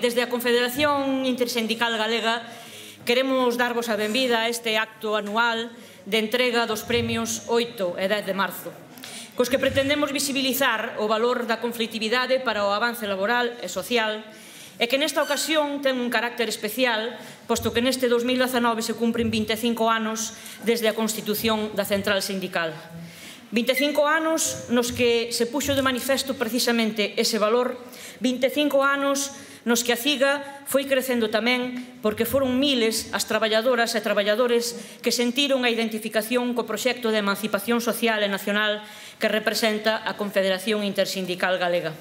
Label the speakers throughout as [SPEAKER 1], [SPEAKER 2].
[SPEAKER 1] desde a Confederación Intersindical Galega queremos darvos a benvida a este acto anual de entrega dos premios 8 e 10 de marzo, cos que pretendemos visibilizar o valor da conflitividade para o avance laboral e social, e que nesta ocasión ten un carácter especial, posto que neste 2019 se cumpren 25 anos desde a constitución da Central Sindical. 25 anos nos que se puxo de manifesto precisamente ese valor, 25 anos nos que a CIGA foi crecendo tamén porque foron miles as traballadoras e traballadores que sentiron a identificación co proxecto de emancipación social e nacional que representa a Confederación Intersindical Galega.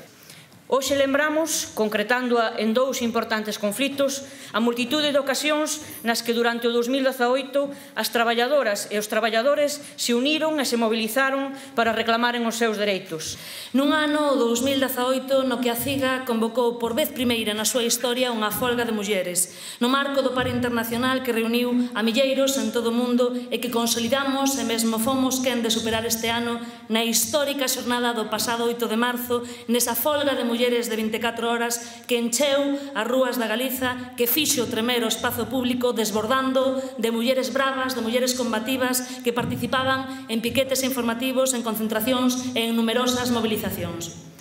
[SPEAKER 1] Hoxe lembramos, concretándoa en dous importantes conflitos, a multitude de ocasións nas que durante o 2018 as traballadoras e os traballadores se uniron e se mobilizaron para reclamaren os seus dereitos.
[SPEAKER 2] Nun ano, o 2018, no que a CIGA convocou por vez primeira na súa historia unha folga de mulleres, no marco do paro internacional que reuniu a milleiros en todo o mundo e que consolidamos e mesmo fomos quen de superar este ano na histórica xornada do pasado 8 de marzo, nesa folga de mulleres de 24 horas que encheu as rúas da Galiza, que fixo tremer o espazo público desbordando de mulleres bravas, de mulleres combativas que participaban en piquetes informativos, en concentracións e en numerosas movilizacións.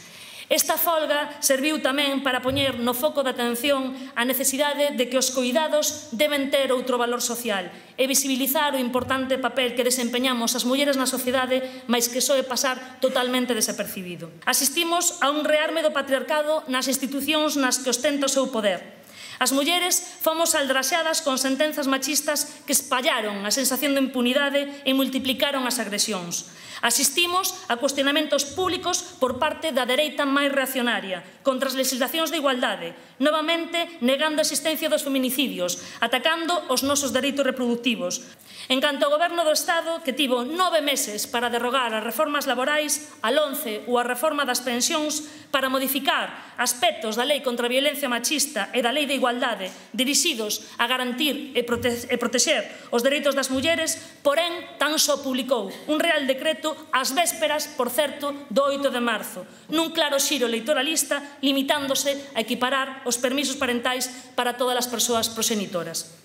[SPEAKER 2] Esta folga serviu tamén para poñer no foco de atención a necesidade de que os coidados deben ter outro valor social e visibilizar o importante papel que desempeñamos as mulleres na sociedade, mais que soe pasar totalmente desapercibido. Asistimos a un rearme do patriarcado nas institucións nas que ostenta o seu poder. As mulleres fomos aldraxadas con sentenzas machistas que espallaron a sensación de impunidade e multiplicaron as agresións. Asistimos a cuestionamentos públicos por parte da dereita máis reaccionaria contra as legislacións de igualdade, novamente negando a existencia dos feminicidios, atacando os nosos dereitos reproductivos. En canto ao Goberno do Estado, que tivo 9 meses para derrogar as reformas laborais, a LOMCE ou a reforma das pensións, para modificar aspectos da Lei contra a Violencia Machista e da Lei de Igualdade dirixidos a garantir e protexer os dereitos das mulleres, porén, tan só publicou un Real Decreto ás vésperas, por certo, do 8 de marzo, nun claro xiro electoralista, limitándose a equiparar os permisos parentais para todas as persoas proxenitoras.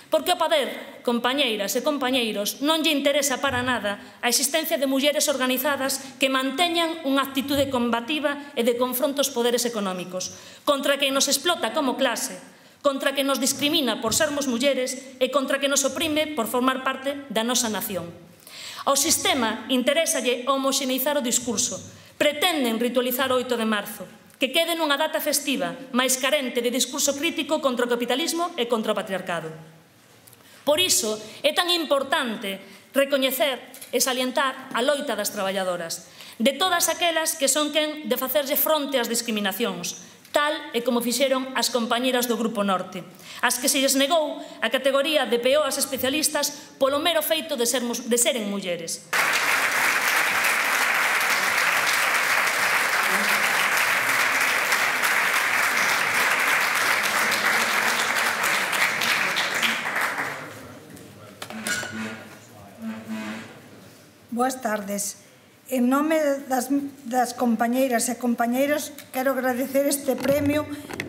[SPEAKER 2] Porque ao poder, compañeiras e compañeiros, non lle interesa para nada a existencia de mulleres organizadas que manteñan unha actitude combativa e de confronto aos poderes económicos, contra quen nos explota como clase, contra quen nos discrimina por sermos mulleres e contra quen nos oprime por formar parte da nosa nación. Ao sistema interésalle homoxeneizar o discurso, pretenden ritualizar o 8 de marzo, que quede nunha data festiva, máis carente de discurso crítico contra o capitalismo e contra o patriarcado. Por iso é tan importante recoñecer e salientar a loita das traballadoras, de todas aquelas que son quen de facerlle fronte ás discriminacións, tal e como fixeron as compañeras do Grupo Norte, as que se lles negou a categoría de peoas especialistas polo mero feito de seren mulleres.
[SPEAKER 3] Boas tardes. En nome das compañeiras e compañeiros, quero agradecer este premio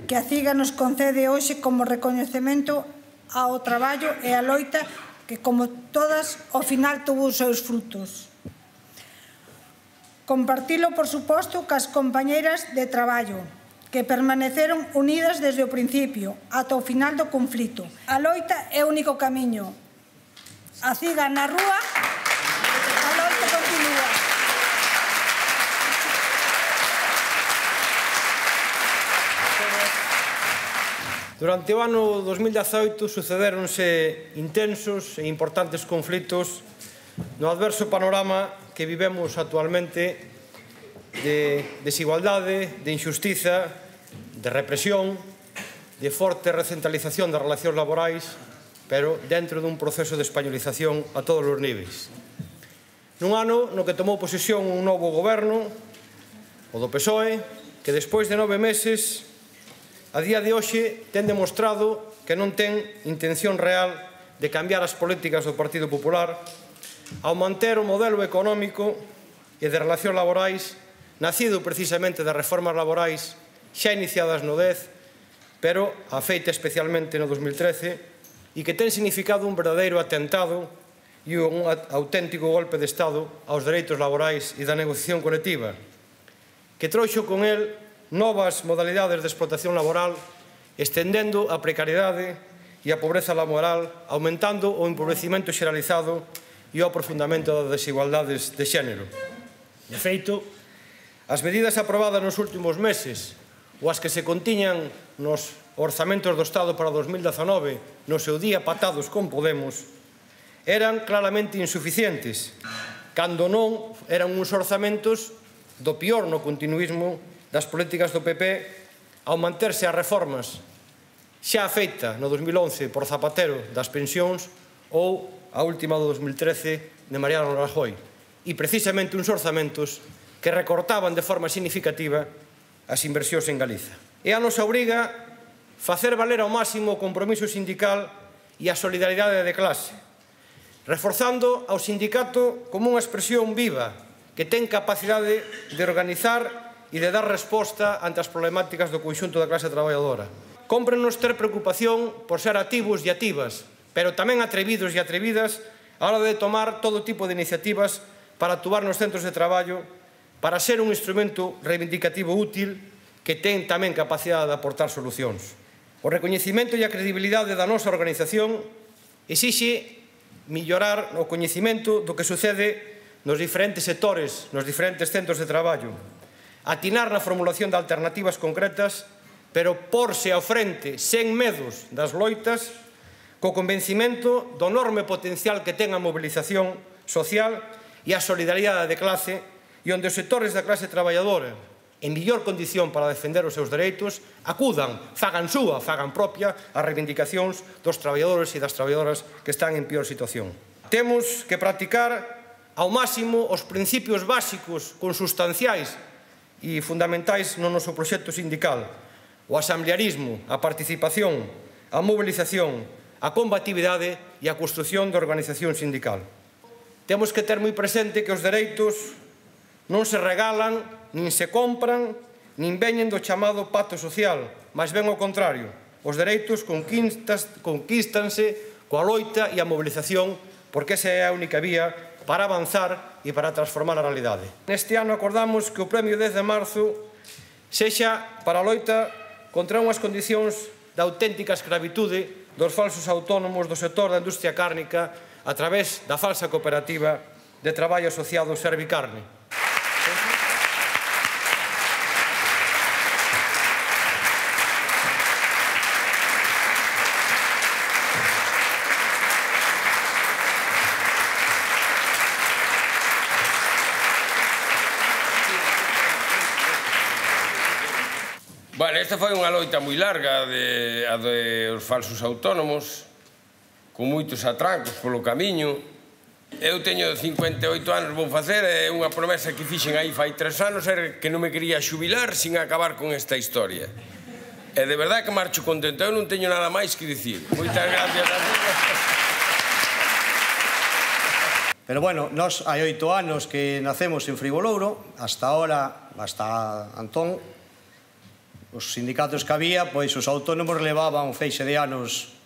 [SPEAKER 3] que a CIGA nos concede hoxe como recoñecemento ao traballo e á loita que, como todas, ao final tuvo os seus frutos. Compartilo, por suposto, cas compañeiras de traballo, que permaneceron unidas desde o principio ata o final do conflito. A loita é o único camiño. A CIGA na rúa, a loita continúa.
[SPEAKER 4] Durante o ano 2018 sucedéronse intensos e importantes conflitos no adverso panorama que vivemos actualmente de desigualdade, de injustiza, de represión, de forte recentralización das relacións laborais, pero dentro dun proceso de españolización a todos os niveis. Nun ano no que tomou posesión un novo goberno, o do PSOE, que despois de 9 meses, a día de hoxe, ten demostrado que non ten intención real de cambiar as políticas do Partido Popular ao manter o modelo económico e de relacións laborais nacido precisamente das reformas laborais xa iniciadas no 10, pero afeita especialmente no 2013 e que ten significado un verdadeiro atentado e un auténtico golpe de Estado aos dereitos laborais e da negociación colectiva, que trouxo con el novas modalidades de explotación laboral, estendendo a precariedade e a pobreza laboral, aumentando o empobrecimento xeralizado e o aprofundamento das desigualdades de xénero. De feito, as medidas aprobadas nos últimos meses ou as que se contiñan nos orzamentos do Estado para 2019 no seu día patados con Podemos eran claramente insuficientes, cando non eran uns orzamentos do pior no continuismo das políticas do PP ao manterse as reformas xa feita no 2011 por Zapatero das pensións ou a última do 2013 de Mariano Rajoy, e precisamente uns orzamentos que recortaban de forma significativa as inversións en Galiza. É a nosa obriga facer valer ao máximo o compromiso sindical e a solidaridade de clase, reforzando ao sindicato como unha expresión viva que ten capacidade de organizar e de dar resposta ante as problemáticas do conxunto da clase traballadora. Cómprenos ter preocupación por ser activos e activas, pero tamén atrevidos e atrevidas a hora de tomar todo tipo de iniciativas para actuar nos centros de traballo, para ser un instrumento reivindicativo útil que ten tamén capacidade de aportar solucións. O recoñecimento e a credibilidade da nosa organización exixe mellorar o coñecimento do que sucede nos diferentes sectores, nos diferentes centros de traballo, atinar na formulación de alternativas concretas, pero porse ao frente, sen medos das loitas, co convencimento do enorme potencial que ten a mobilización social e a solidaridade de clase, e onde os sectores da clase traballadora, en mellor condición para defender os seus dereitos, acudan, fagan súa, fagan propia, as reivindicacións dos traballadores e das traballadoras que están en peor situación. Temos que practicar ao máximo os principios básicos, consustanciais e fundamentais no noso proxecto sindical: o asamblearismo, a participación, a mobilización, a combatividade e a construción de organización sindical. Temos que ter moi presente que os dereitos non se regalan, nin se compran, nin veñen do chamado pacto social, mas ben ao contrario. Os dereitos conquístanse coa loita e a mobilización, porque esa é a única vía para avanzar e para transformar a realidade. Neste ano acordamos que o premio 10 de marzo sexa para a loita contra unhas condicións de auténtica escravitude dos falsos autónomos do sector da industria cárnica a través da falsa cooperativa de traballo asociado Servicarne.
[SPEAKER 5] Bueno, esta foi unha loita moi larga a dos falsos autónomos, con moitos atrancos polo camiño. Eu teño 58 anos, vou facer, é unha promesa que fixen aí fai 3 anos, era que non me quería xubilar sin acabar con esta historia. E de verdade que marcho contento, eu non teño nada máis que dicir. Moitas gracias a todos.
[SPEAKER 6] Pero bueno, nós hai 8 anos que nacemos en Frigolouro, hasta ahora, hasta Antón, os sindicatos que había, pois os autónomos levaban un feixe de anos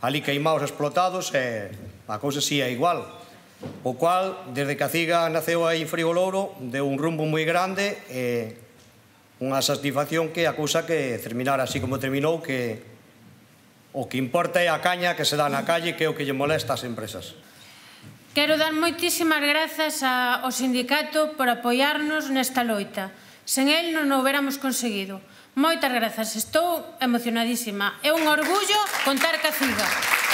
[SPEAKER 6] ali queimados, explotados, e a cousa si é igual. O cual, desde que a CIGA naceu aí en Frigolouro, deu un rumbo moi grande e unha satisfacción que a cousa que terminara así como terminou, que o que importa é a caña que se dá na calle, que é o que lle molesta ás empresas.
[SPEAKER 7] Quero dar moitísimas grazas ao sindicato por apoiarnos nesta loita. Sen el non o hubiéramos conseguido. Moitas grazas, estou emocionadísima. É un orgullo contar ca CIGA.